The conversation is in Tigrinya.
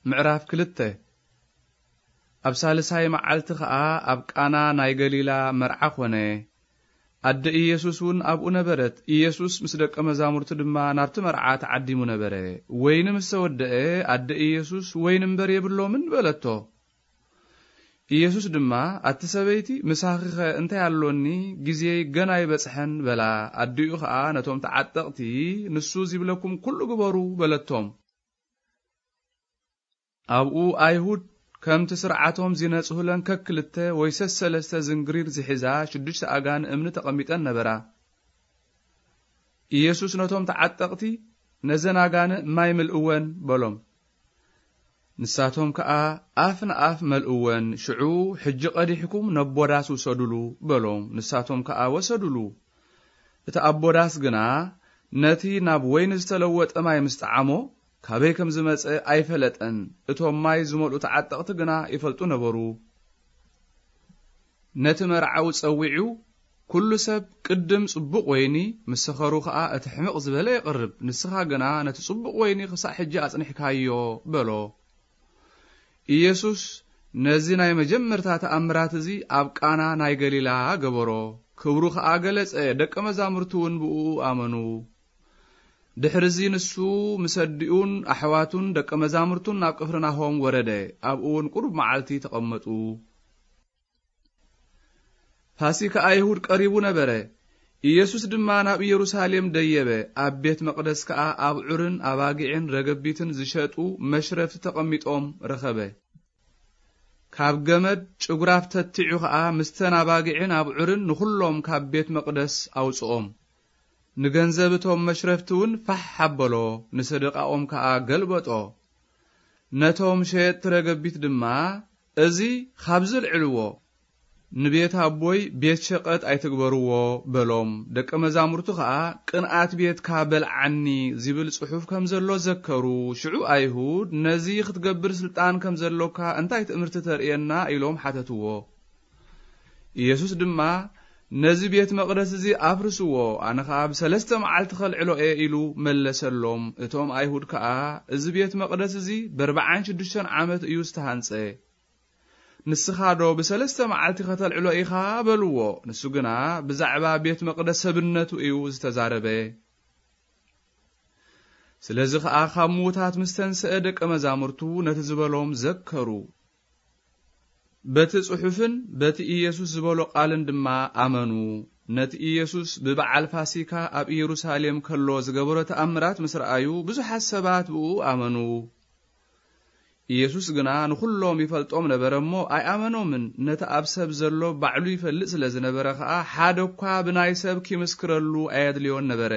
ምዕራፍ ክልተ። ኣብ ሳልሳይ መዓልቲ ኸኣ ኣብ ቃና ናይ ገሊላ መርዓ ኾነ። ኣደ ኢየሱስ እውን ኣብኡ ነበረት። ኢየሱስ ምስ ደቀ መዛሙርቱ ድማ ናብቲ መርዓ ተዓዲሙ ነበረ። ወይኒ ምስ ተወደአ፣ ኣደ ኢየሱስ፣ "ወይኒ እምበር የብሎምን" በለቶ። ኢየሱስ ድማ፣ "ኣቲ ሰበይቲ፣ ምሳኺኸ እንታይ ኣሎኒ? ግዜይ ገና ኣይበጽሐን" በላ። ኣዲኡ ኸኣ ነቶም ተዓጠቕቲ፣ "ንሱ ዚብለኩም ኩሉ ግበሩ" በለቶም። ኣብኡ ኣይሁድ ከምቲ ስርዓቶም ዚነጽሁለን ከክልተ ወይ ሰሰለስተ ዝንግሪር ዝሒዛ ሽዱሽተ ኣጋን እምኒ ተቐሚጠን ነበራ። ኢየሱስ ነቶም ተዓጠቕቲ፣ "ነዘን ኣጋን ማይ ምልእወን" በሎም። ንሳቶም ከኣ ኣፍ ንኣፍ መልእወን። ሽዑ፣ "ሕጂ ቀዲሕኩም ነቦ ዳስ ውሰዱሉ" በሎም። ንሳቶም ከኣ ወሰዱሉ። እቲ ኣቦ ዳስ ግና ነቲ ናብ ወይኒ ዝተለወጠ ማይ ምስ ጠዓሞ፣ ካበይ ከም ዝመጸ ኣይፈለጠን። እቶም ማይ ዝመልኡ ተዓጠቕቲ ግና ይፈልጡ ነበሩ። ነቲ መርዓዊ ጸዊዑ፣ "ኩሉ ሰብ ቅድም ጽቡቕ ወይኒ፣ ምስ ሰኸሩ ኸኣ እቲ ሕምቕ ዝበለ የቕርብ፣ ንስኻ ግና ነቲ ጽቡቕ ወይኒ ኽሳዕ ሕጂ ኣጽኒሕካዮ" በሎ። ኢየሱስ ነዚ ናይ መጀመርታ ተኣምራት እዚ ኣብ ቃና ናይ ገሊላ ገበሮ። ክብሩ ኸኣ ገለጸ፣ ደቀ መዛሙርቱ እውን ብእኡ ኣመኑ። ድሕርዚ ንሱ ምስ ኣዲኡን ኣሕዋቱን ደቀ መዛሙርቱን ናብ ቅፍርናሆም ወረደ። ኣብኡ እውን ቁሩብ መዓልቲ ተቐመጡ። ፋሲካ ኣይሁድ ቀሪቡ ነበረ። ኢየሱስ ድማ ናብ ኢየሩሳሌም ደየበ። ኣብ ቤት መቕደስ ከኣ ኣብዑርን ኣባጊዕን ረገቢትን ዝሸጡ መሽረፍቲ ተቐሚጦም ረኸበ። ካብ ገመድ ጭጉራፍ ተቲዑ ኸኣ ምስተን ኣባጊዕን ኣብዑርን ንኹሎም ካብ ቤት መቕደስ ኣውጽኦም። ንገንዘብ እቶም መሽረፍቲ እውን ፋሕ ኣበሎ፣ ንሰደቓኦም ከኣ ገልበጦ። ነቶም ሸየጥቲ ረገቢት ድማ፣ "እዚ ኻብዚ ኣልዕልዎ፣ ንቤት ኣቦይ ቤት ሸቐጥ ኣይትግበርዎ" በሎም። ደቀ መዛሙርቱ ኸኣ፣ "ቅንኣት ቤትካ በልዓኒ" ዚብል ጽሑፍ ከም ዘሎ ዘከሩ። ሽዑ ኣይሁድ፣ "ነዚ ኽትገብር ስልጣን ከም ዘሎካ እንታይ ትእምርቲ ተርእየና?" ኢሎም ሓተትዎ። ኢየሱስ ድማ፣ "ነዚ ቤት መቕደስ እዚ ኣፍርስዎ፣ ኣነ ኸኣ ብሰለስተ መዓልቲ ኸልዕሎ እየ" ኢሉ መለሰሎም። እቶም ኣይሁድ ከኣ፣ "እዚ ቤት መቕደስ እዚ በርብዓን ሽዱሽተን ዓመት እዩ ዝተሃንጸ። ንስኻዶ ብሰለስተ መዓልቲ ኸተልዕሎ ኢኻ?" በልዎ። ንሱ ግና ብዛዕባ ቤት መቕደስ ሰብነቱ እዩ ዝተዛረበ። ስለዚ ኸኣ ካብ ምዉታት ምስ ተንስአ ደቀ መዛሙርቱ ነቲ ዝበሎም ዘከሩ። በቲ ጽሑፍን በቲ ኢየሱስ ዝበሎ ቃልን ድማ ኣመኑ። ነቲ ኢየሱስ ብበዓል ፋሲካ ኣብ ኢየሩሳሌም ከሎ ዝገበሮ ተኣምራት ምስ ረኣዩ፣ ብዙሓት ሰባት ብእኡ ኣመኑ። ኢየሱስ ግና ንኹሎም ይፈልጦም ነበረ እሞ ኣይኣመኖምን። ነቲ ኣብ ሰብ ዘሎ ባዕሉ ይፈልጥ ስለ ዝነበረ ኸኣ፣ ሓደ እኳ ብናይ ሰብ ኪምስክረሉ ኣየድልዮን ነበረ።